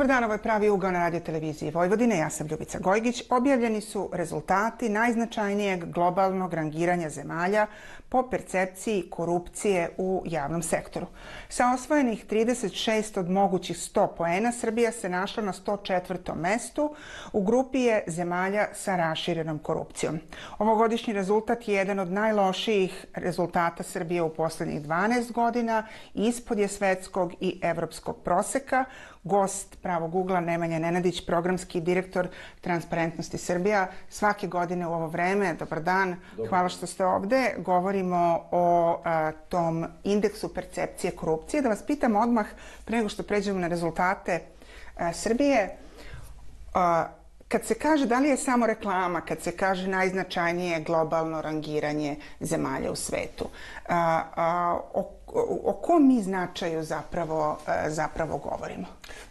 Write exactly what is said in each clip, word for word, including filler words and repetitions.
Dobar dan, ovo je Pravi ugao na radio televiziji Vojvodine. Ja sam Ljubica Gojgić. Objavljeni su rezultati najznačajnijeg globalnog rangiranja zemalja po percepciji korupcije u javnom sektoru. Sa osvojenih trideset šest od mogućih sto poena, Srbija se našla na sto četvrtom mestu. U grupi je zemalja sa raširenom korupcijom. Ovogodišnji rezultat je jedan od najlošijih rezultata Srbije u poslednjih dvanaest godina. Ispod je svetskog i evropskog proseka. Gost Pravog ugla Nemanja Nenadić, programski direktor Transparentnosti Srbija. Svake godine u ovo vreme, dobar dan, dobar. Hvala što ste ovde. Govorimo o a, tom indeksu percepcije korupcije. Da vas pitam odmah, pre nego što pređemo na rezultate a, Srbije, a, kad se kaže, da li je samo reklama, kad se kaže najznačajnije globalno rangiranje zemalja u svetu, a, a, o, o kom mi značaju zapravo, zapravo govorimo?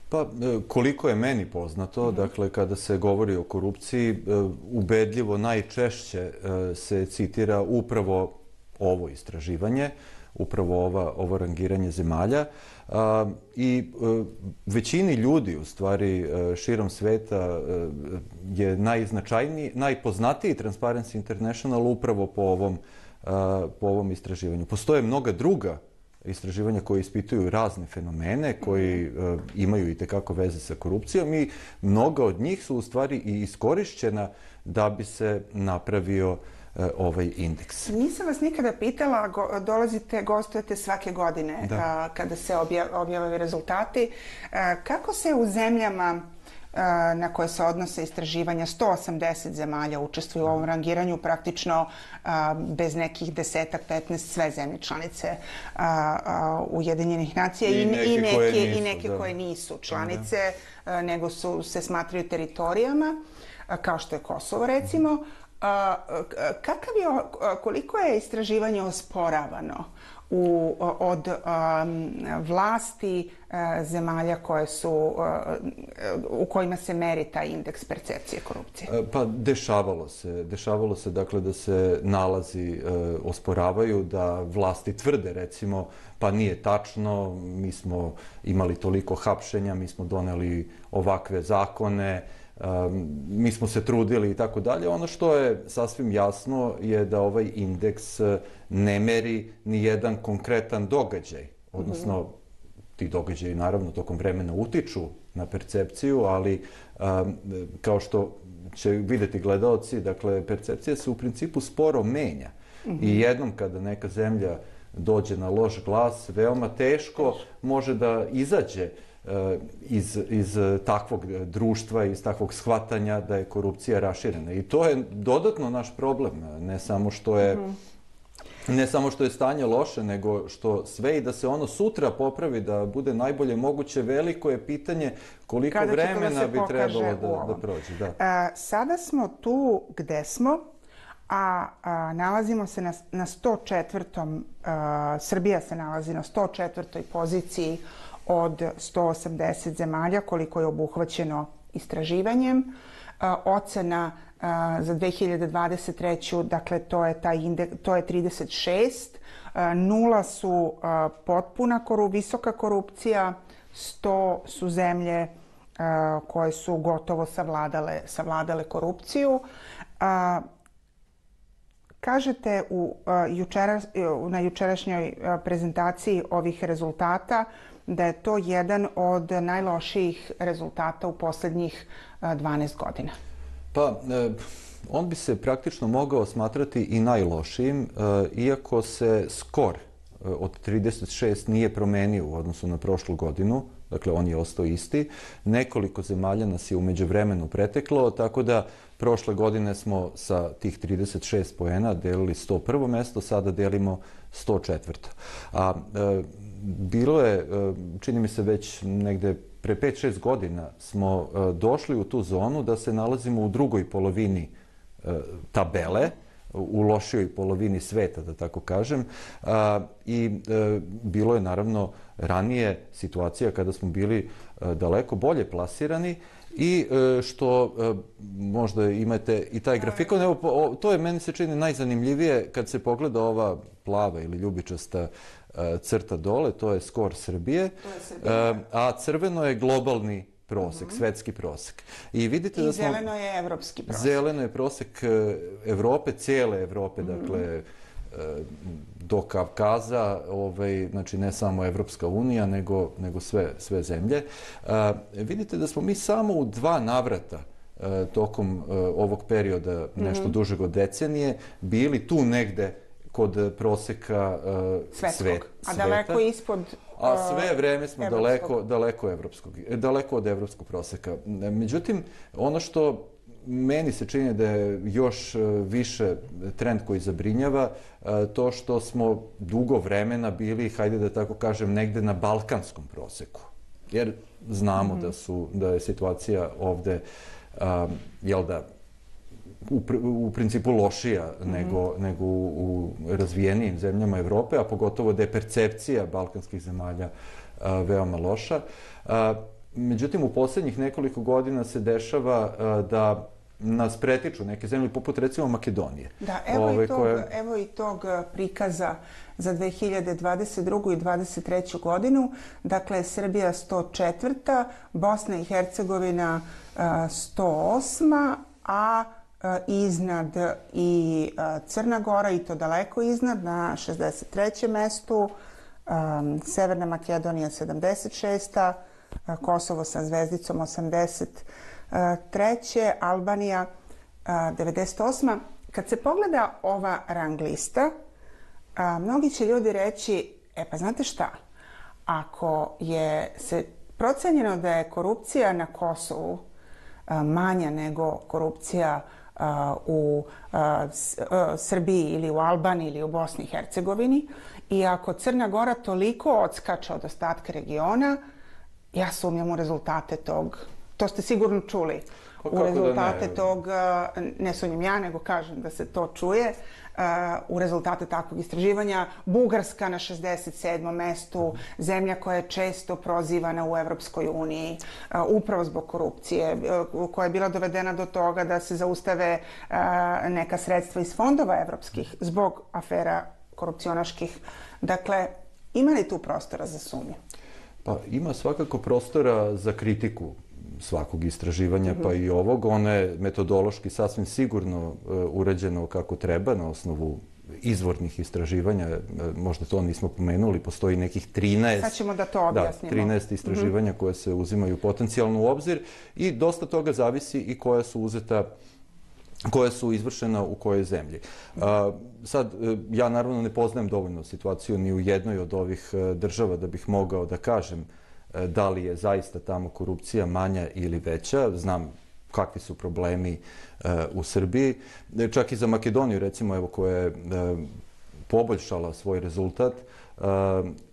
Pa, koliko je meni poznato, dakle, kada se govori o korupciji, ubedljivo najčešće se citira upravo ovo istraživanje, upravo ova, ovo rangiranje zemalja. I većini ljudi, u stvari, širom sveta je najznačajniji, najpoznatiji Transparency International upravo po ovom, po ovom istraživanju. Postoje mnoga druga istraživanja koje ispituju razne fenomene, koji uh, imaju i tekako veze sa korupcijom i mnoga od njih su u stvari i iskorišćena da bi se napravio uh, ovaj indeks. Nisam vas nikada pitala, go, dolazite, gostujete svake godine a, kada se obja, objavljaju rezultati. A, kako se u zemljama na koje se odnose istraživanja, sto osamdeset zemalja učestvuju u ovom rangiranju, praktično a, bez nekih desetak, petnaest, sve zemlje članice a, a, Ujedinjenih nacija i, i neke, i neke, koje, nisu, i neke da. koje nisu članice, a, nego su, se smatraju teritorijama, a, kao što je Kosovo recimo. A, kakav je, koliko je istraživanje osporavano U, od um, vlasti uh, zemalja koje su, uh, u kojima se meri taj indeks percepcije korupcije? Pa dešavalo se. Dešavalo se dakle da se nalazi uh, osporavaju, da vlasti tvrde recimo pa nije tačno, mi smo imali toliko hapšenja, mi smo doneli ovakve zakone, Um, mi smo se trudili i tako dalje. Ono što je sasvim jasno je da ovaj indeks ne meri ni jedan konkretan događaj. Odnosno, ti događaji naravno tokom vremena utiču na percepciju, ali um, kao što će vidjeti gledaoci, dakle, percepcija se u principu sporo menja. Mm-hmm. I jednom kada neka zemlja dođe na loš glas, veoma teško može da izađe Iz, iz takvog društva, iz takvog shvatanja da je korupcija raširena. I to je dodatno naš problem. Ne samo što je, mm-hmm. ne samo što je stanje loše, nego što sve i da se ono sutra popravi, da bude najbolje moguće, veliko je pitanje koliko Kada vremena da bi trebalo da, da prođe. Da. A, sada smo tu gde smo, a, a nalazimo se na, na sto četvrtom. A, Srbija se nalazi na sto četvrtoj poziciji od sto osamdeset zemalja, koliko je obuhvaćeno istraživanjem. A, ocena a, za dve hiljade dvadeset treću. dakle, to je, taj indeks, to je trideset šest. A, nula su a, potpuna koru, visoka korupcija, sto su zemlje a, koje su gotovo savladale, savladale korupciju. A, Kažete u, jučera, na jučerašnjoj prezentaciji ovih rezultata da je to jedan od najlošijih rezultata u poslednjih dvanaest godina. Pa, on bi se praktično mogao smatrati i najlošijim, iako se skor od trideset šest nije promenio u odnosu na prošlu godinu. Dakle, on je ostao isti. Nekoliko zemalja nas je u međuvremenu preteklo, tako da prošle godine smo sa tih trideset šest poena delili sto prvo mesto, sada delimo sto četvrto. A e, bilo je, e, čini mi se već negde pre pet šest godina smo e, došli u tu zonu da se nalazimo u drugoj polovini e, tabele, u lošijoj polovini sveta, da tako kažem. A, I e, bilo je naravno ranije situacija kada smo bili e, daleko bolje plasirani i e, što e, možda imate i taj grafikon. Evo, o, to je meni se čini najzanimljivije kad se pogleda ova plava ili ljubičasta e, crta dole, to je skor Srbije, To je Srbija. E, a crveno je globalni prosek, svetski prosek. I vidite da smo... I zeleno je evropski prosek. Zeleno je prosek Evrope, cijele Evrope, dakle, do Kavkaza, ovaj, znači ne samo Evropska unija, nego, nego sve, sve zemlje. Vidite da smo mi samo u dva navrata tokom ovog perioda, nešto mm-hmm. dužeg od decenije, bili tu negde kod proseka uh, svet, a daleko ispod uh, a sve vreme smo daleko, daleko, evropskog, daleko od evropskog proseka. Međutim, ono što meni se čini da je još više trend koji zabrinjava, to što smo dugo vremena bili, hajde da tako kažem, negde na balkanskom proseku. Jer znamo mm-hmm. da, su, da je situacija ovde, um, jel da, U, u principu lošija mm-hmm. nego, nego u, u razvijenijim zemljama Evrope, a pogotovo da je percepcija balkanskih zemalja a, veoma loša. A, međutim, u posljednjih nekoliko godina se dešava a, da nas pretiču neke zemlje, poput recimo Makedonije. Da, evo, Ove, i, tog, koje... evo i tog prikaza za dve hiljade dvadeset drugu i dvadeset treću godinu. Dakle, Srbija sto četvrta, Bosna i Hercegovina a, sto osma, a iznad i Crna Gora, i to daleko iznad, na šezdeset trećem mestu, um, Severna Makedonija sedamdeset šesta, Kosovo sa zvezdicom osamdeset treće, Albanija devedeset osma. Kad se pogleda ova rang lista, a, mnogi će ljudi reći, e pa znate šta, ako je se procenjeno da je korupcija na Kosovu a, manja nego korupcija Uh, u uh, s, uh, Srbiji ili u Albaniji ili u Bosni i Hercegovini, i ako Crna Gora toliko odskače od ostatka regiona, ja sumnjam u rezultate tog, to ste sigurno čuli, pa u rezultate ne? tog, ne sumnjam ja, nego kažem da se to čuje, uh, u rezultate takvog istraživanja. Bugarska na šezdeset sedmom mestu, zemlja koja je često prozivana u Evropskoj uniji, uh, upravo zbog korupcije, uh, koja je bila dovedena do toga da se zaustave uh, neka sredstva iz fondova evropskih zbog afera korupcionaških. Dakle, ima li tu prostora za sumnju? Pa ima svakako prostora za kritiku svakog istraživanja, mm-hmm. pa i ovog. Ono je metodološki sasvim sigurno uh, urađeno kako treba na osnovu izvornih istraživanja. Uh, možda to nismo pomenuli, postoji nekih trinaest... Sad ćemo da to objasnimo. Da, trinaest istraživanja mm-hmm. koje se uzimaju potencijalno u obzir, i dosta toga zavisi i koja su uzeta, koja su izvršena u kojoj zemlji. Uh, sad, uh, ja naravno ne poznajem dovoljno situaciju ni u jednoj od ovih uh, država da bih mogao da kažem da li je zaista tamo korupcija manja ili veća. Znam kakvi su problemi uh, u Srbiji. Čak i za Makedoniju, recimo, evo, koja je uh, poboljšala svoj rezultat, uh,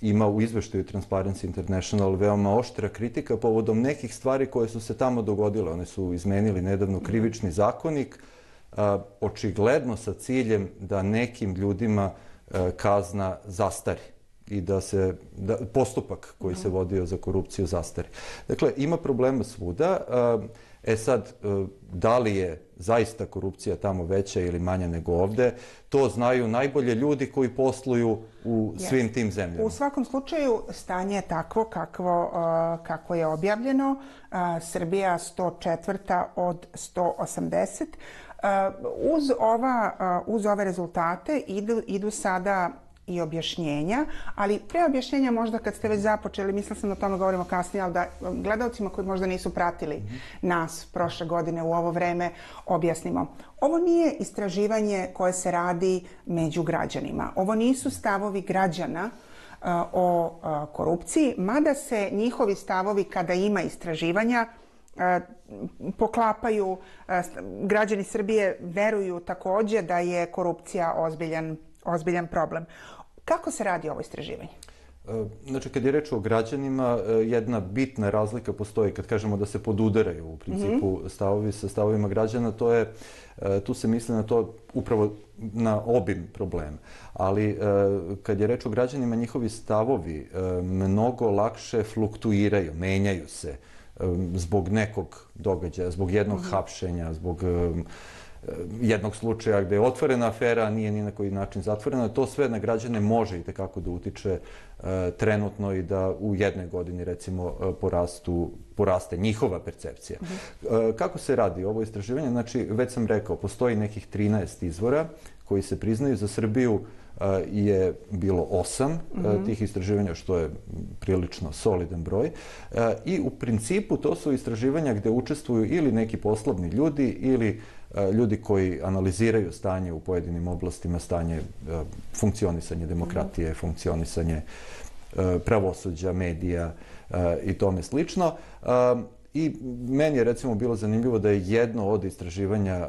ima u izveštaju Transparency International veoma oštra kritika povodom nekih stvari koje su se tamo dogodile. One su izmenili nedavno krivični zakonik, uh, očigledno sa ciljem da nekim ljudima uh, kazna zastari i da se da, postupak koji se vodio za korupciju zastari. Dakle, ima problema svuda. E sad, da li je zaista korupcija tamo veća ili manja nego ovde, to znaju najbolje ljudi koji posluju u svim tim zemljama. U svakom slučaju, stanje je takvo kakvo, kako je objavljeno. Srbija sto četvrta od sto osamdeset. Uz, ova, uz ove rezultate idu, idu sada i objašnjenja, ali pre objašnjenja možda kad ste već započeli, mislila sam da o tome govorimo kasnije, ali da gledalcima koji možda nisu pratili mm-hmm. nas prošle godine u ovo vreme objasnimo. Ovo nije istraživanje koje se radi među građanima. Ovo nisu stavovi građana uh, o uh, korupciji, mada se njihovi stavovi kada ima istraživanja uh, poklapaju. Uh, građani Srbije veruju takođe da je korupcija ozbiljan, ozbiljan problem. Kako se radi ovo istraživanje? Znači, kad je reč o građanima, jedna bitna razlika postoji kad kažemo da se podudaraju u principu mm-hmm. stavovi sa stavovima građana, to je, tu se misli na to upravo na obim problema. Ali kad je reč o građanima, njihovi stavovi mnogo lakše fluktuiraju, menjaju se zbog nekog događaja, zbog jednog mm-hmm. hapšenja, zbog jednog slučaja gde je otvorena afera, a nije ni na koji način zatvorena. To sve na građane može i tekako da utiče trenutno i da u jednoj godini, recimo, porastu, poraste njihova percepcija. Uh-huh. Kako se radi ovo istraživanje? Znači, već sam rekao, postoji nekih trinaest izvora koji se priznaju. Za Srbiju je bilo osam mm-hmm. tih istraživanja, što je prilično solidan broj. I u principu to su istraživanja gde učestvuju ili neki poslovni ljudi ili ljudi koji analiziraju stanje u pojedinim oblastima, stanje funkcionisanje demokratije, mm-hmm. funkcionisanje pravosuđa, medija i tome slično. I meni je recimo bilo zanimljivo da je jedno od istraživanja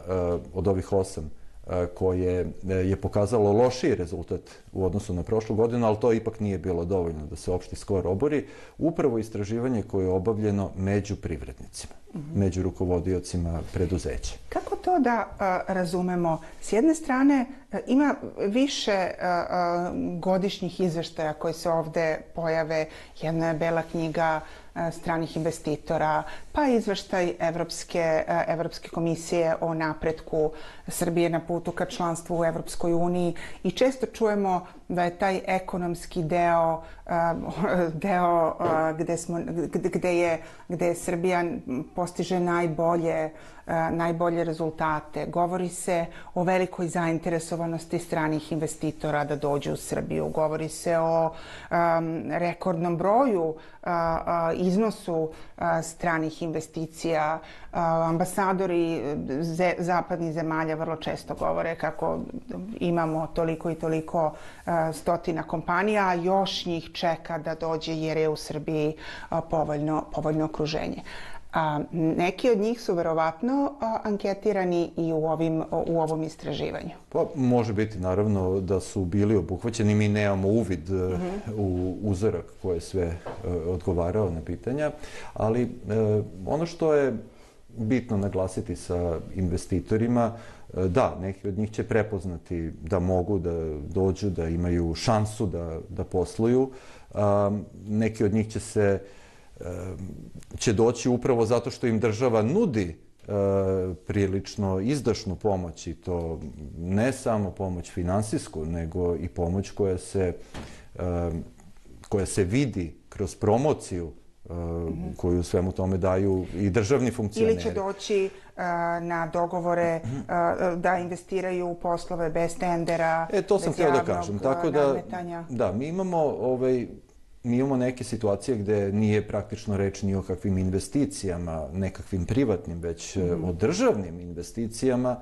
od ovih osam koje je pokazalo lošiji rezultat u odnosu na prošlu godinu, ali to ipak nije bilo dovoljno da se opšti skor obori. Upravo istraživanje koje je obavljeno među privrednicima, mm-hmm. među rukovodiocima preduzeća. Kako to da a, razumemo? S jedne strane, a, ima više a, a, godišnjih izveštaja koji se ovde pojave. Jedna je Bela knjiga stranih investitora, pa izveštaj Evropske, Evropske komisije o napretku Srbije na putu ka članstvu u Evropskoj uniji i često čujemo da je taj ekonomski deo, deo gde, smo, gde, je, gde je Srbija postiže najbolje, najbolje rezultate. Govori se o velikoj zainteresovanosti stranih investitora da dođu u Srbiju. Govori se o um, rekordnom broju, uh, uh, iznosu uh, stranih investicija. Uh, ambasadori ze, zapadnih zemalja vrlo često govore kako imamo toliko i toliko uh, stotina kompanija, a još njih čeka da dođe jer je u Srbiji uh, povoljno, povoljno okruženje. A, neki od njih su verovatno a, anketirani i u, ovim, u ovom istraživanju. Pa, može biti naravno da su bili obuhvaćeni. Mi nemamo uvid mm-hmm. u uzorak koji je sve uh, odgovarao na pitanja, ali uh, ono što je bitno naglasiti sa investitorima, uh, da, neki od njih će prepoznati da mogu da dođu, da imaju šansu da, da posluju. Uh, neki od njih će se će doći upravo zato što im država nudi e, prilično izdašnu pomoć i to ne samo pomoć finansijsku, nego i pomoć koja se, e, koja se vidi kroz promociju e, mm-hmm. koju svemu tome daju i državni funkcioneri. Ili će doći e, na dogovore mm-hmm. e, da investiraju u poslove bez tendera, e, to sam htio da kažem. Tako da, nadmetanja. Da, mi imamo ovaj, Mi imamo neke situacije gde nije praktično reč ni o kakvim investicijama, nekakvim privatnim, već mm. o državnim investicijama,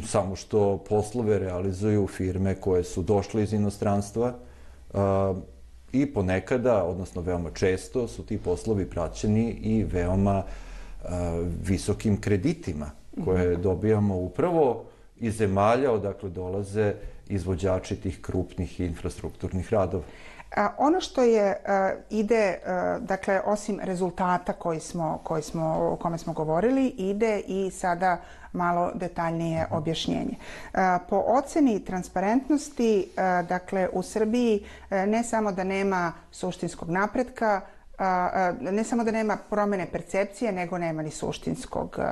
samo što poslove realizuju firme koje su došle iz inostranstva uh, i ponekada, odnosno veoma često, su ti poslovi praćeni i veoma uh, visokim kreditima koje mm. dobijamo upravo iz zemalja odakle dolaze izvođači tih krupnih infrastrukturnih radova. A, ono što je uh, ide, uh, dakle, osim rezultata koji smo, koji smo, o kome smo govorili, ide i sada malo detaljnije objašnjenje. Uh, po oceni transparentnosti, uh, dakle, u Srbiji uh, ne samo da nema suštinskog napretka, uh, uh, ne samo da nema promene percepcije, nego nema ni suštinskog uh,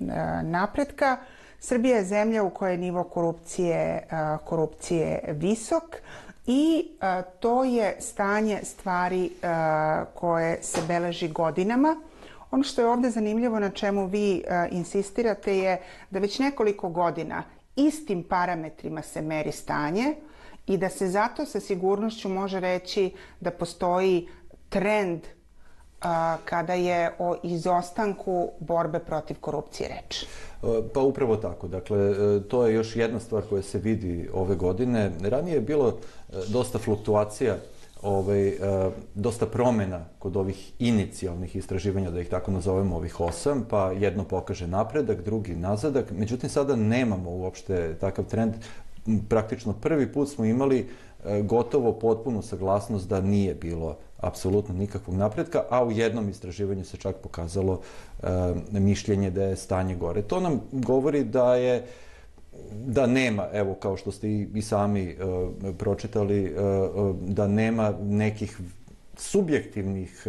uh, napretka. Srbija je zemlja u kojoj je nivo korupcije, uh, korupcije visok. I a, to je stanje stvari a, koje se beleži godinama. Ono što je ovdje zanimljivo na čemu vi a, insistirate je da već nekoliko godina istim parametrima se meri stanje i da se zato sa sigurnošću može reći da postoji trend a, kada je o izostanku borbe protiv korupcije reč. Pa upravo tako. Dakle, to je još jedna stvar koja se vidi ove godine. Ranije je bilo dosta fluktuacija, ovaj, dosta promjena kod ovih inicijalnih istraživanja, da ih tako nazovemo, ovih osam, pa jedno pokaže napredak, drugi nazadak. Međutim, sada nemamo uopšte takav trend. Praktično prvi put smo imali gotovo potpunu saglasnost da nije bilo apsolutno nikakvog napretka, a u jednom istraživanju se čak pokazalo e, mišljenje da je stanje gore. To nam govori da je da nema, evo kao što ste i, i sami e, pročitali, e, da nema nekih subjektivnih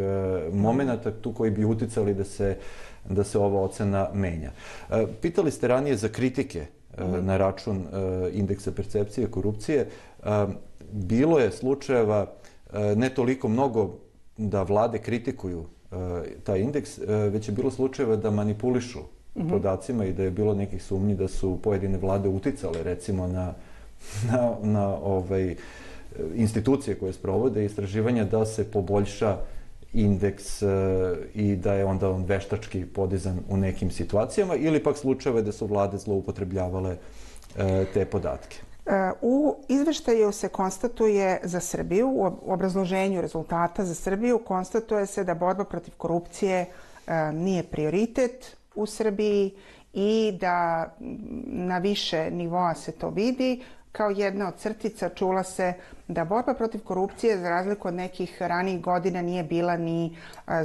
momenata tu koji bi uticali da se, da se ova ocena menja. Pitali ste ranije za kritike na račun indeksa percepcije korupcije. Bilo je slučajeva, ne toliko mnogo da vlade kritikuju taj indeks, već je bilo slučajeva da manipulišu podacima i da je bilo nekih sumnji da su pojedine vlade uticale recimo na, na, na ovaj, institucije koje sprovode istraživanja da se poboljša indeks i da je onda on veštački podizan u nekim situacijama ili pak slučajeve da su vlade zloupotrebljavale te podatke. U izveštaju se konstatuje za Srbiju, u obrazloženju rezultata za Srbiju, konstatuje se da borba protiv korupcije nije prioritet u Srbiji i da na više nivoa se to vidi. Kao jedna od crtica čula se da borba protiv korupcije, za razliku od nekih ranijih godina, nije bila ni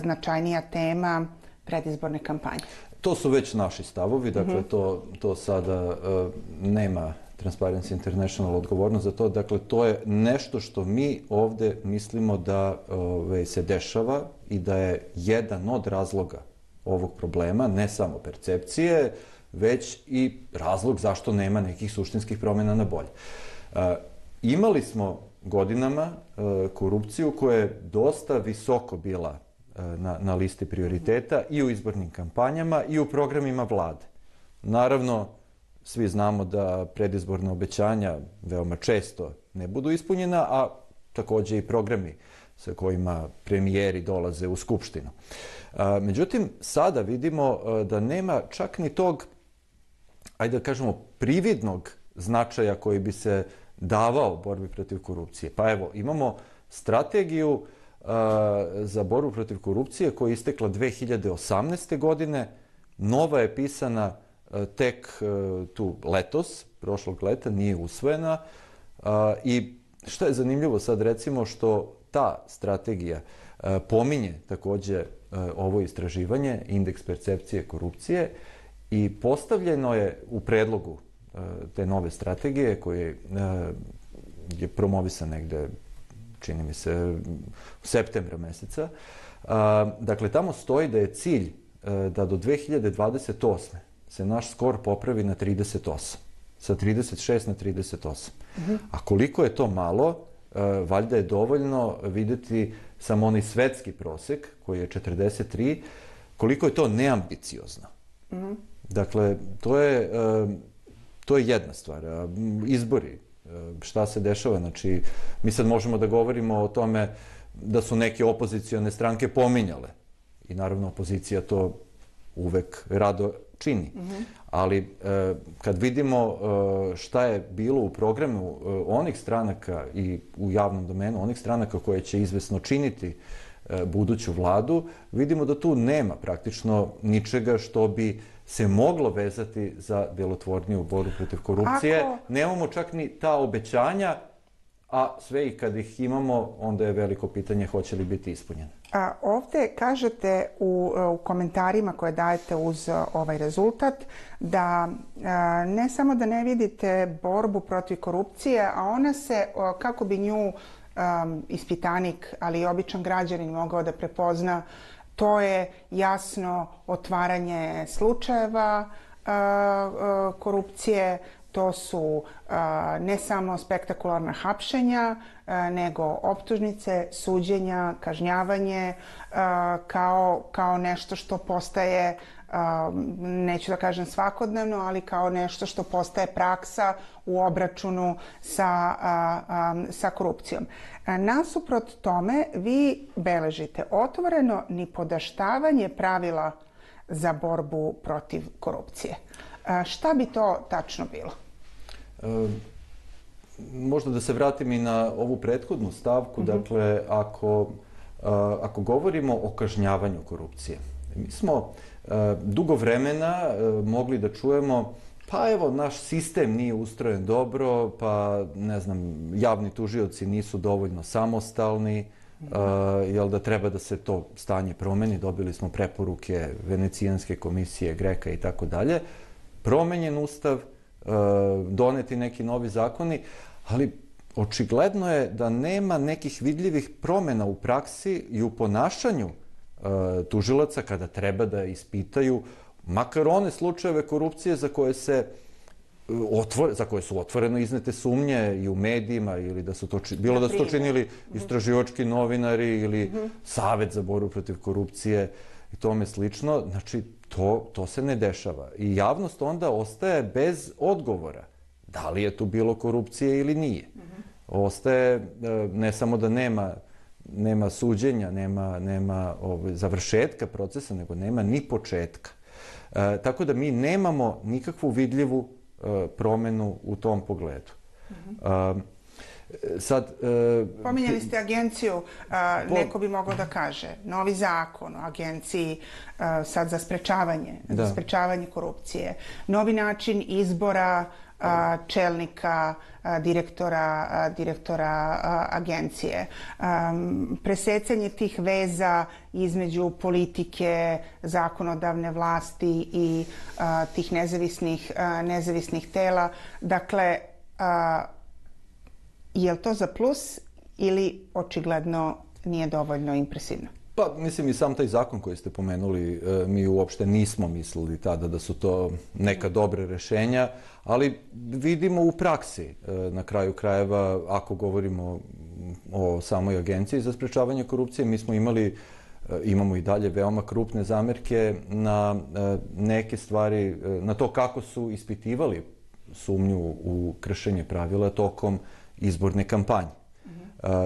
značajnija tema predizborne kampanje. To su već naši stavovi, dakle mm-hmm. to, to sada uh, nema Transparency International odgovornost za to. Dakle, to je nešto što mi ovde mislimo da ove, se dešava i da je jedan od razloga ovog problema, ne samo percepcije, već i razlog zašto nema nekih suštinskih promjena na bolje. E, imali smo godinama e, korupciju koja je dosta visoko bila e, na, na listi prioriteta i u izbornim kampanjama i u programima vlade. Naravno, svi znamo da predizborna obećanja veoma često ne budu ispunjena, a takođe i programi sa kojima premijeri dolaze u Skupštinu. Međutim, sada vidimo da nema čak ni tog, ajde da kažemo, prividnog značaja koji bi se davao borbi protiv korupcije. Pa evo, imamo strategiju za borbu protiv korupcije koja je istekla dve hiljade osamnaeste. godine, nova je pisana tek tu letos, prošlog leta, nije usvojena. I što je zanimljivo sad recimo što ta strategija pominje takođe ovo istraživanje, indeks percepcije korupcije, i postavljeno je u predlogu te nove strategije koje je promovisan negde, čini mi se, u septembra meseca. Dakle, tamo stoji da je cilj da do dve hiljade dvadeset osme. se naš skor popravi na trideset osam. Sa trideset šest na trideset osam. Uh-huh. A koliko je to malo, valjda je dovoljno videti samo onaj svetski prosek, koji je četrdeset tri, koliko je to neambiciozno. Uh-huh. Dakle, to je, to je jedna stvar. Izbori, šta se dešava, znači, mi sad možemo da govorimo o tome da su neke opozicione stranke pominjale. I naravno, opozicija to uvek rado čini. Mm-hmm. Ali e, kad vidimo e, šta je bilo u programu e, onih stranaka i u javnom domenu, onih stranaka koje će izvesno činiti e, buduću vladu, vidimo da tu nema praktično ničega što bi se moglo vezati za delotvorniju borbu protiv korupcije. Ako... Nemamo čak ni ta obećanja, a sve i kad ih imamo, onda je veliko pitanje hoće li biti ispunjene. A, ovde kažete u, u komentarima koje dajete uz ovaj rezultat da a, ne samo da ne vidite borbu protiv korupcije, a ona se, a, kako bi nju a, ispitanik, ali i običan građanin mogao da prepozna, to je jasno otvaranje slučajeva a, a, korupcije. To su a, ne samo spektakularna hapšenja, a, nego optužnice, suđenja, kažnjavanje a, kao, kao nešto što postaje, a, neću da kažem svakodnevno, ali kao nešto što postaje praksa u obračunu sa, a, a, sa korupcijom. A, nasuprot tome, vi beležite otvoreno nipodaštavanje pravila za borbu protiv korupcije. A, šta bi to tačno bilo? E, možda da se vratim i na ovu prethodnu stavku. Mm-hmm. Dakle, ako, a, ako govorimo o kažnjavanju korupcije, mi smo a, dugo vremena a, mogli da čujemo pa evo, naš sistem nije ustrojen dobro, pa ne znam, javni tužioci nisu dovoljno samostalni, uh, jel da treba da se to stanje promeni, dobili smo preporuke Venecijanske komisije, Greka i tako dalje, promenjen ustav, uh, doneti neki novi zakoni, ali očigledno je da nema nekih vidljivih promjena u praksi i u ponašanju tužilaca kada treba da ispitaju makar one slučajeve korupcije za koje se za koje su otvoreno iznete sumnje i u medijima, ili da su to, bilo da su to činili istraživački novinari ili Savet za borbu protiv korupcije i tome slično. Znači, to, to se ne dešava. I javnost onda ostaje bez odgovora. Da li je tu bilo korupcije ili nije. Ostaje, ne samo da nema nema suđenja, nema, nema ovaj, završetka procesa, nego nema ni početka. E, tako da mi nemamo nikakvu vidljivu e, promenu u tom pogledu. E, sad, e, Pominjali ste agenciju, a, po... neko bi mogao da kaže, novi zakon o agenciji a, sad za sprečavanje, da. za sprečavanje korupcije, novi način izbora a, čelnika, a, direktora, a, direktora a, agencije, a, presecanje tih veza između politike, zakonodavne vlasti i a, tih nezavisnih, a, nezavisnih tela. Dakle, a, je li to za plus ili očigledno nije dovoljno impresivno? Pa, mislim, i sam taj zakon koji ste pomenuli, mi uopšte nismo mislili tada da su to neka dobra rešenja, ali vidimo u praksi, na kraju krajeva, ako govorimo o samoj agenciji za sprečavanje korupcije, mi smo imali, imamo i dalje veoma krupne zamerke na neke stvari, na to kako su ispitivali sumnju u kršenje pravila tokom izborne kampanje.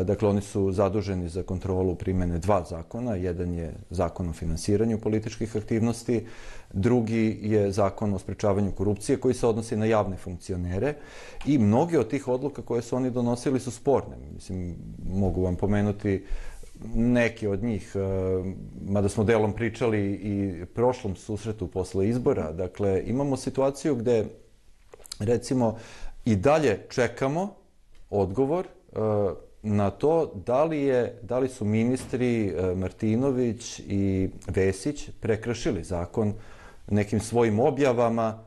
Dakle, oni su zaduženi za kontrolu primjene dva zakona. Jedan je zakon o finansiranju političkih aktivnosti, drugi je zakon o sprečavanju korupcije koji se odnosi na javne funkcionere i mnoge od tih odluka koje su oni donosili su sporne. Mislim, mogu vam pomenuti neke od njih, mada smo delom pričali i prošlom susretu posle izbora. Dakle, imamo situaciju gde, recimo, i dalje čekamo odgovor na to da li, je, da li su ministri Martinović i Vesić prekršili zakon nekim svojim objavama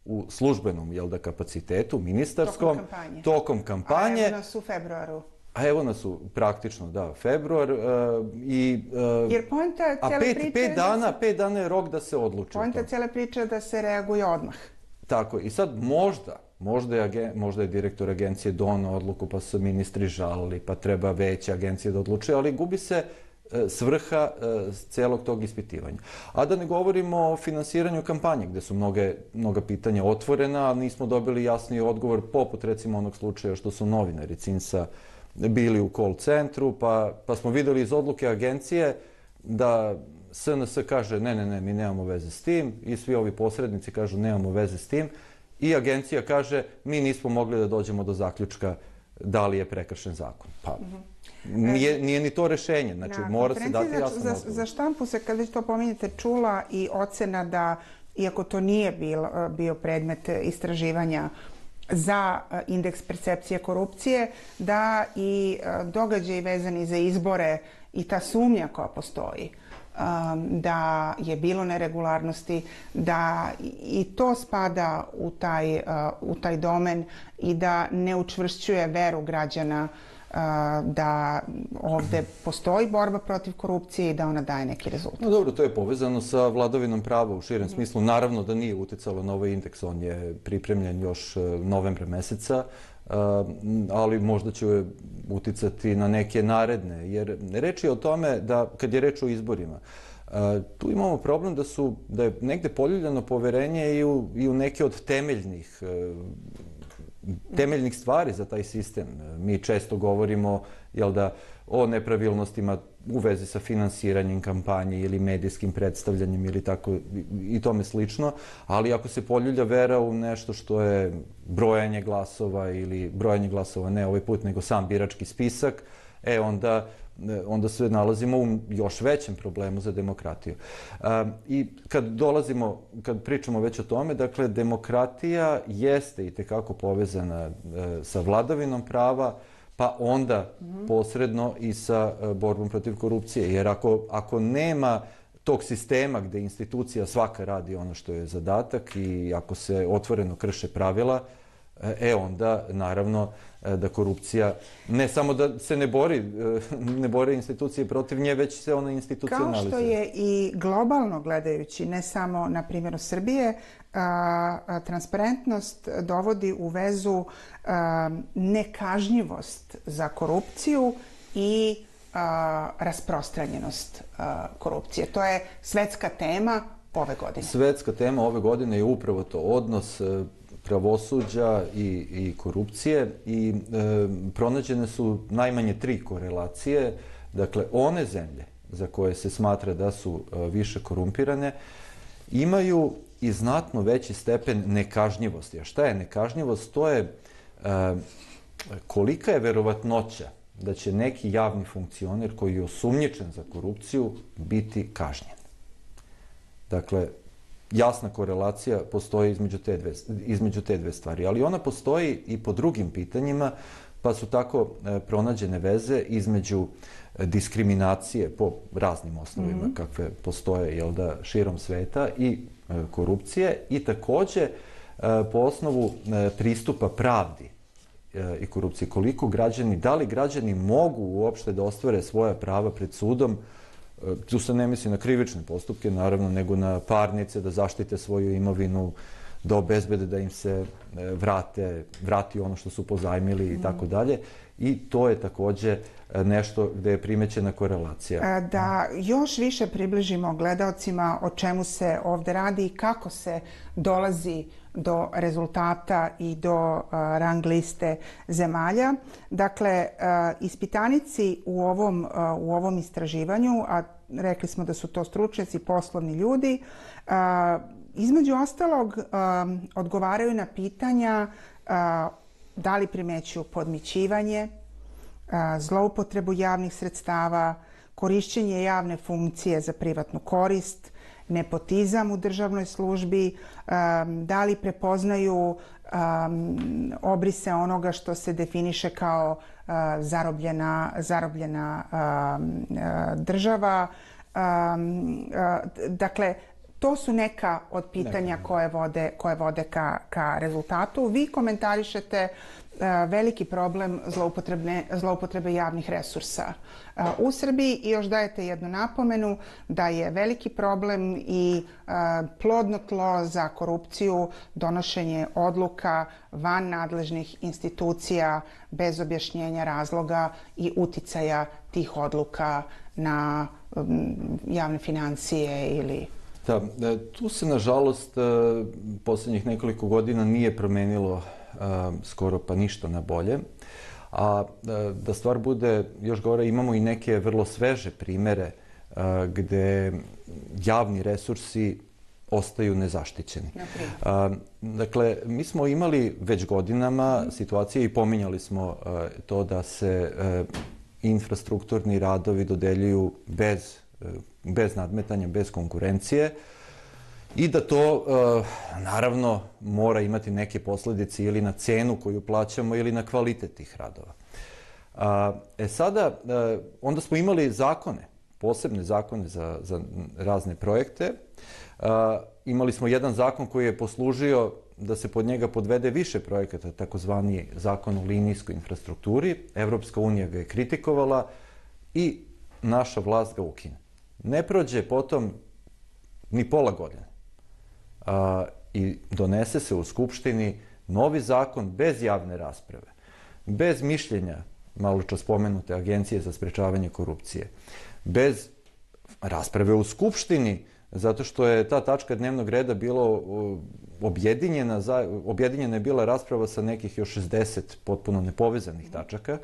u službenom, jel da, kapacitetu, ministarskom, tokom kampanje. Tokom kampanje. A evo nas u februaru. A evo nas u, praktično, da, februar. Uh, i, uh, Jer poenta a cijele pet, priče... Pet dana, se, pet dana je rok da se odluči. Poenta cijele priče je da se reaguje odmah. Tako, i sad možda, Možda je, možda je direktor agencije donao odluku, pa su ministri žalili, pa treba veće agencije da odlučuje, ali gubi se e, svrha e, celog tog ispitivanja. A da ne govorimo o finansiranju kampanje, gde su mnoge, mnoga pitanja otvorena, ali nismo dobili jasni odgovor, poput recimo onog slučaja što su novinari Cinsa bili u call centru, pa, pa smo videli iz odluke agencije da S N S kaže ne, ne, ne, mi nemamo veze s tim, i svi ovi posrednici kažu nemamo veze s tim, i agencija kaže mi nismo mogli da dođemo do zaključka da li je prekršen zakon. Pa, nije, nije ni to rešenje, znači na mora se dati jasno za, odgovor. za štampu se, kad već to pominjete, čula i ocena da, iako to nije bil, bio predmet istraživanja za indeks percepcije korupcije, da i događaji vezani za izbore i ta sumnja koja postoji, da je bilo neregularnosti, da i to spada u taj, u taj domen i da ne učvršćuje veru građana da ovde postoji borba protiv korupcije i da ona daje neki rezultat. No dobro, to je povezano sa vladavinom prava u širem smislu. Naravno da nije uticalo na ovaj indeks, on je pripremljen još novembra meseca, ali možda će uticati na neke naredne, jer reč je o tome da, kad je reč o izborima, tu imamo problem da su, da je negde poljuljano poverenje i u, i u neke od temeljnih temeljnih stvari za taj sistem. Mi često govorimo, jel da, o nepravilnostima u vezi sa finansiranjem kampanje ili medijskim predstavljanjem ili tako i tome slično, ali ako se poljulja vera u nešto što je brojanje glasova ili brojanje glasova ne ovaj put, nego sam birački spisak, e onda onda se nalazimo u još većem problemu za demokratiju. I kad dolazimo, kad pričamo već o tome, dakle, demokratija jeste i tekako povezana sa vladavinom prava, pa onda posredno i sa borbom protiv korupcije. Jer ako, ako nema tog sistema gde institucija svaka radi ono što je zadatak i ako se otvoreno krše pravila, e onda naravno da korupcija ne samo da se ne bori, ne bore institucije protiv nje, već se ona institucionalizuje. Kao što je i globalno gledajući, ne samo na primjeru Srbije, transparentnost dovodi u vezu nekažnjivost za korupciju i rasprostranjenost korupcije. To je svetska tema ove godine. Svetska tema ove godine je upravo to, odnos pravosuđa i, i korupcije i e, pronađene su najmanje tri korelacije. Dakle, one zemlje za koje se smatra da su e, više korumpirane imaju i znatno veći stepen nekažnjivosti. A šta je nekažnjivost? To je e, kolika je verovatnoća da će neki javni funkcioner koji je osumnjičen za korupciju biti kažnjen. Dakle, jasna korelacija postoji između te, dve, između te dve stvari, ali ona postoji i po drugim pitanjima, pa su tako e, pronađene veze između diskriminacije po raznim osnovima mm-hmm. kakve postoje, jel da, širom sveta i e, korupcije i takođe e, po osnovu e, pristupa pravdi e, i korupcije. Koliko građani, da li građani mogu uopšte da ostvare svoja prava pred sudom. Tu se ne misli na krivične postupke, naravno, nego na parnice, da zaštite svoju imovinu, da obezbede da im se vrate, vrati ono što su pozajmili i tako dalje. I to je takođe nešto gde je primećena korelacija. Da još više približimo gledaocima o čemu se ovde radi i kako se dolazi do rezultata i do rang liste zemalja. Dakle, ispitanici u ovom, u ovom istraživanju, a rekli smo da su to stručnjaci, poslovni ljudi, između ostalog odgovaraju na pitanja da li primećuju podmićivanje, zloupotrebu javnih sredstava, korišćenje javne funkcije za privatnu korist, nepotizam u državnoj službi, da li prepoznaju obrise onoga što se definiše kao zarobljena, zarobljena država. Dakle, to su neka od pitanja koje vode, koje vode ka, ka rezultatu. Vi komentarišete veliki problem zloupotrebe javnih resursa u Srbiji i još dajete jednu napomenu da je veliki problem i plodno tlo za korupciju donošenje odluka van nadležnih institucija bez objašnjenja razloga i uticaja tih odluka na javne financije ili... Da, tu se, nažalost, poslednjih nekoliko godina nije promenilo skoro pa ništa na bolje. A da stvar bude još gore, imamo i neke vrlo sveže primere gde javni resursi ostaju nezaštićeni. Dakle, mi smo imali već godinama situacije i pominjali smo to da se infrastrukturni radovi dodeljuju bez, bez nadmetanja, bez konkurencije. I da to, naravno, mora imati neke posledice ili na cenu koju plaćamo ili na kvalitet tih radova. E sada, onda smo imali zakone, posebne zakone za, za razne projekte. Imali smo jedan zakon koji je poslužio da se pod njega podvede više projekata, takozvani zakon o linijskoj infrastrukturi. Evropska unija ga je kritikovala i naša vlast ga ukine. Ne prođe potom ni pola godine. A, i donese se u Skupštini novi zakon bez javne rasprave, bez mišljenja malo čas spomenute Agencije za sprečavanje korupcije, bez rasprave u Skupštini, zato što je ta tačka dnevnog reda bila objedinjena, objedinjena je bila rasprava sa nekih još šezdeset potpuno nepovezanih tačaka.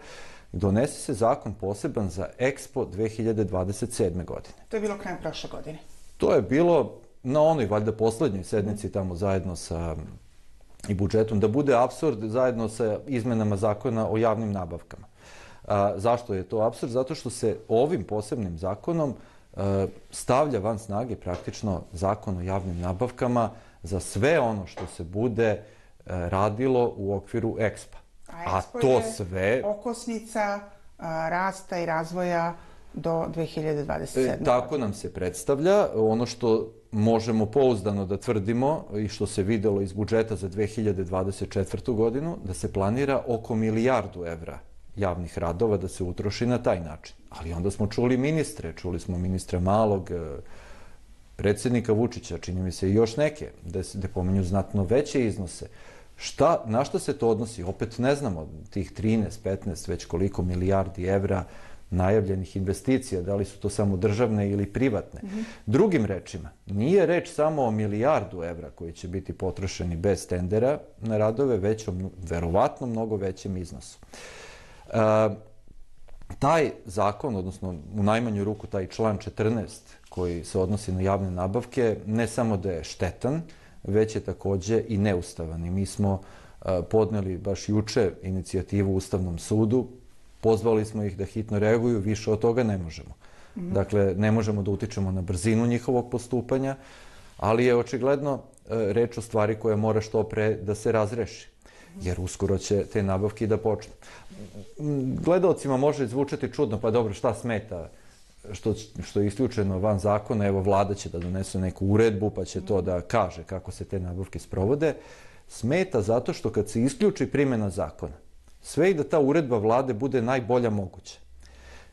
Donese se zakon poseban za Expo dve hiljade dvadeset sedme. godine. To je bilo krajem prošle godine. To je bilo na onoj, valjda, poslednjoj sednici tamo zajedno sa i budžetom, da bude apsurd zajedno sa izmenama zakona o javnim nabavkama. A, zašto je to apsurd? Zato što se ovim posebnim zakonom a, stavlja van snage praktično zakon o javnim nabavkama za sve ono što se bude a, radilo u okviru Expo. A, A to sve okosnica a, rasta i razvoja do dve hiljade dvadeset sedme. E, tako nam se predstavlja. Ono što možemo pouzdano da tvrdimo i što se videlo iz budžeta za dve hiljade dvadeset četvrtu. godinu, da se planira oko milijardu evra javnih radova da se utroši na taj način. Ali onda smo čuli ministre, čuli smo ministra Malog, predsjednika Vučića, čini mi se i još neke, da, da pominju znatno veće iznose. Šta, na šta se to odnosi? Opet ne znamo, tih trinaest, petnaest, već koliko milijardi evra najavljenih investicija, da li su to samo državne ili privatne. Mm-hmm. Drugim rečima, nije reč samo o milijardu evra koji će biti potrošeni bez tendera na radove, već o verovatno mnogo većem iznosu. E, taj zakon, odnosno u najmanju ruku taj član četrnaest koji se odnosi na javne nabavke, ne samo da je štetan, već je takođe i neustavan. I mi smo e, podneli baš juče inicijativu Ustavnom sudu, pozvali smo ih da hitno reaguju, više od toga ne možemo. Mm-hmm. Dakle, ne možemo da utičemo na brzinu njihovog postupanja, ali je očigledno e, reč o stvari koja mora što pre da se razreši, jer uskoro će te nabavke da počnu. Gledaocima može zvučati čudno, pa dobro, šta smeta što, što je isključeno van zakona, evo vlada će da donese neku uredbu, pa će to da kaže kako se te nabavke sprovode. Smeta zato što kad se isključi primjena zakona, sve i da ta uredba vlade bude najbolja moguća.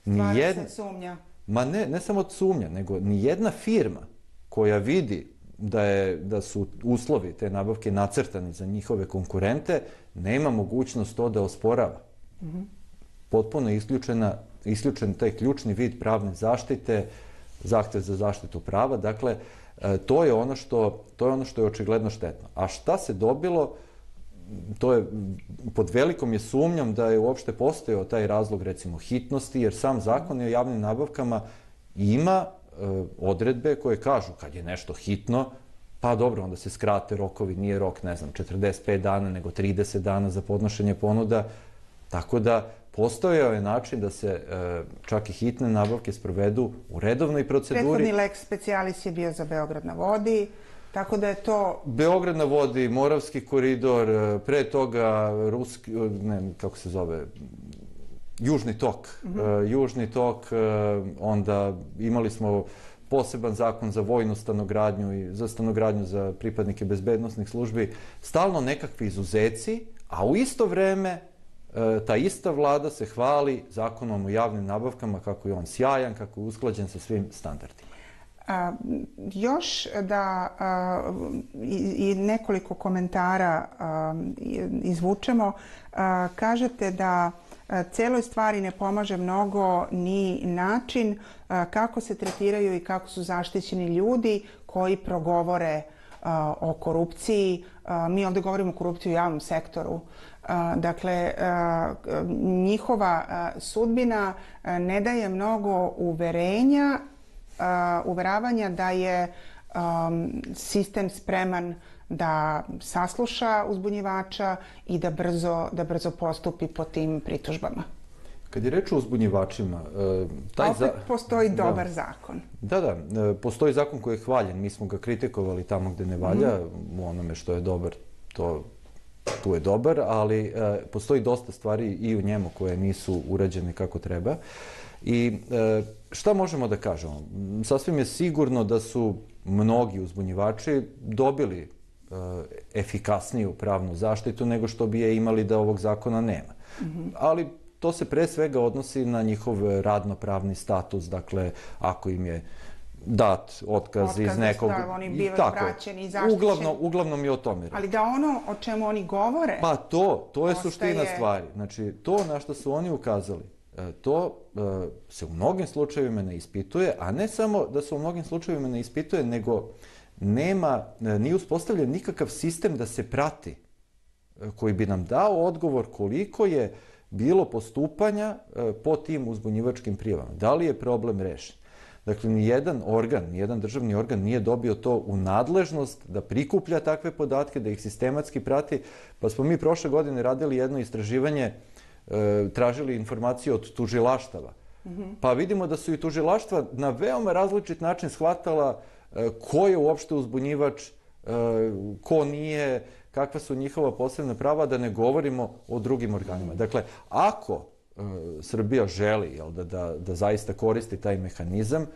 Stvara jedna... se sumnja. Ma ne, ne samo sumnja, nego ni jedna firma koja vidi da, je, da su uslovi te nabavke nacrtani za njihove konkurente, nema mogućnost to da osporava. Mm-hmm. Potpuno isključena, isključen taj ključni vid pravne zaštite, zahtev za zaštitu prava. Dakle, to je ono što, to je ono što je očigledno štetno. A šta se dobilo? To je, pod velikom je sumnjom da je uopšte postojao taj razlog, recimo, hitnosti, jer sam zakon o javnim nabavkama ima e, odredbe koje kažu kad je nešto hitno, pa dobro, onda se skrate rokovi, nije rok, ne znam, četrdeset pet dana, nego trideset dana za podnošenje ponuda, tako da postojao je način da se e, čak i hitne nabavke sprovedu u redovnoj proceduri. Prethodni lex specialis je bio za Beograd na vodi, tako da je to... Beograd na vodi, Moravski koridor, pre toga Ruski, ne, kako se zove, Južni tok. Mm-hmm. Uh, Južni tok, uh, onda imali smo poseban zakon za vojnu stanogradnju i za stanogradnju za pripadnike bezbednosnih službi. Stalno nekakvi izuzeci, a u isto vreme uh, ta ista vlada se hvali zakonom o javnim nabavkama, kako je on sjajan, kako je usklađen sa svim standardima. A, još da a, i, i nekoliko komentara a, izvučemo. A, kažete da a, celoj stvari ne pomaže mnogo ni način a, kako se tretiraju i kako su zaštićeni ljudi koji progovore a, o korupciji. A, mi ovdje govorimo o korupciji u javnom sektoru. A, dakle, a, njihova a, sudbina a, ne daje mnogo uverenja Uh, uveravanja da je um, sistem spreman da sasluša uzbunjivača i da brzo, da brzo postupi po tim pritužbama. Kad je reč o uzbunjivačima... Uh, taj opet za... postoji dobar da. zakon. Da, da. Uh, postoji zakon koji je hvaljen. Mi smo ga kritikovali tamo gde ne valja. Mm. U onome što je dobar, to, tu je dobar, ali uh, postoji dosta stvari i u njemu koje nisu urađene kako treba. I e, šta možemo da kažemo? Sasvim je sigurno da su mnogi uzbunjivači dobili e, efikasniju pravnu zaštitu nego što bi je imali da ovog zakona nema. Mm-hmm. Ali to se pre svega odnosi na njihov radno-pravni status. Dakle, ako im je dat otkaz, otkaz iz nekog... Da, oni bivaju vraćeni i zaštićeni. Uglavnom, uglavnom je o tome. Ali da ono o čemu oni govore... Pa to, to je ostaje... suština stvari. Znači, to na što su oni ukazali, to se u mnogim slučajevima ne ispituje, a ne samo da se u mnogim slučajevima ne ispituje, nego nema, nije uspostavljen nikakav sistem da se prati, koji bi nam dao odgovor koliko je bilo postupanja po tim uzbunjivačkim prijavama. Da li je problem rešen? Dakle, nijedan organ, nijedan državni organ nije dobio to u nadležnost da prikuplja takve podatke, da ih sistematski prati. Pa smo mi prošle godine radili jedno istraživanje, tražili informacije od tužilaštava. Mm-hmm. Pa vidimo da su i tužilaštva na veoma različit način shvatala ko je uopšte uzbunjivač, ko nije, kakva su njihova posebna prava, da ne govorimo o drugim organima. Dakle, ako Srbija želi, jel, da, da, da zaista koristi taj mehanizam,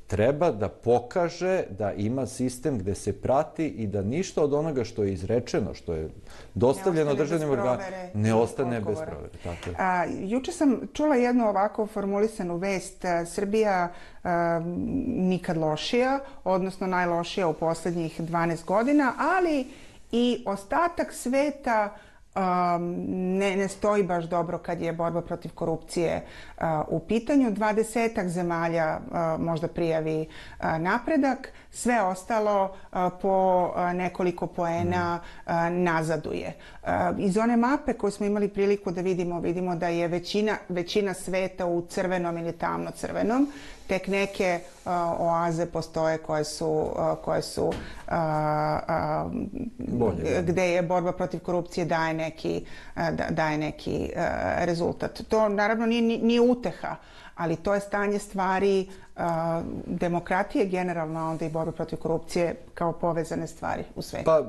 treba da pokaže da ima sistem gde se prati i da ništa od onoga što je izrečeno, što je dostavljeno državnim organima, ne ostane bez provere. Tako je. A, juče sam čula jednu ovako formulisanu vest, Srbija a, nikad lošija, odnosno najlošija u poslednjih dvanaest godina, ali i ostatak sveta Um, ne, ne stoji baš dobro kad je borba protiv korupcije uh, u pitanju. Dvadesetak zemalja uh, možda prijavi uh, napredak, sve ostalo uh, po uh, nekoliko poena uh, nazaduje. Uh, iz one mape koju smo imali priliku da vidimo, vidimo da je većina, većina sveta u crvenom ili tamno crvenom. Tek neke uh, oaze postoje koje su, uh, koje su uh, uh, Bolje, gde je borba protiv korupcije daje neki, uh, daje neki uh, rezultat. To naravno nije, nije uteha, ali to je stanje stvari uh, demokratije generalno, a onda i borba protiv korupcije kao povezane stvari u svetu. Pa,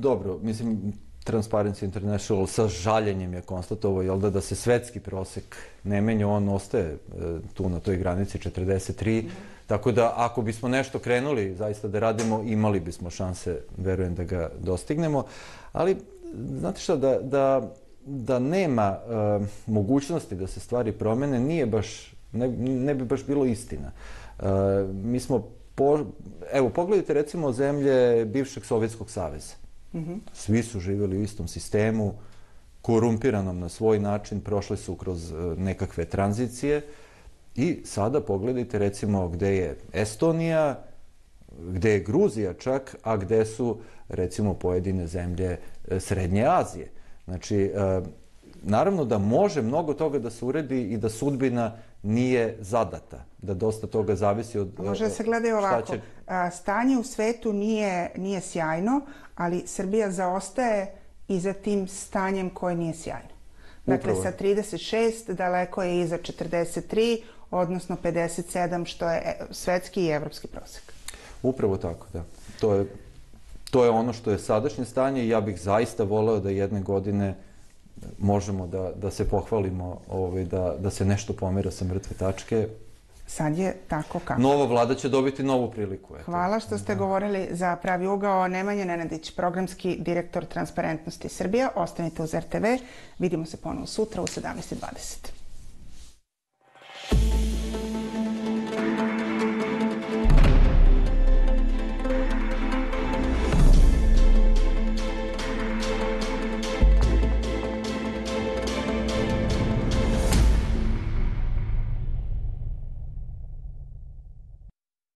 dobro, mislim, Transparency International sa žaljenjem je konstatovao, jel da, da se svetski prosek ne menja, on ostaje e, tu na toj granici četrdeset tri, mm. tako da ako bismo nešto krenuli zaista da radimo, imali bismo šanse, verujem, da ga dostignemo, ali znate šta, da, da, da nema e, mogućnosti da se stvari promene, nije baš, ne, ne bi baš bilo istina. E, mi smo, po, evo, pogledajte recimo zemlje bivšeg Sovjetskog saveza. Mm-hmm. Svi su živjeli u istom sistemu, korumpiranom na svoj način, prošli su kroz nekakve tranzicije i sada pogledajte recimo gde je Estonija, gde je Gruzija čak, a gde su recimo pojedine zemlje Srednje Azije. Znači, naravno da može mnogo toga da se uredi i da sudbina nije zadata, da dosta toga zavisi od... Može da se gleda ovako. Će... Stanje u svetu nije, nije sjajno, ali Srbija zaostaje i za tim stanjem koje nije sjajno. Dakle, upravo. Sa trideset šest daleko je iza četrdeset tri, odnosno pedeset sedam, što je svetski i evropski prosek. Upravo tako, da. To je, to je ono što je sadašnje stanje i ja bih zaista voleo da jedne godine možemo da, da se pohvalimo, ovaj, da, da se nešto pomera sa mrtve tačke. Sad je tako kako. Nova vlada će dobiti novu priliku. Eto. Hvala što ste da. govorili za Pravi ugao. Nemanja Nenadić, programski direktor Transparentnosti Srbija. Ostanite uz er te ve. Vidimo se ponovo sutra u sedamnaest i dvadeset.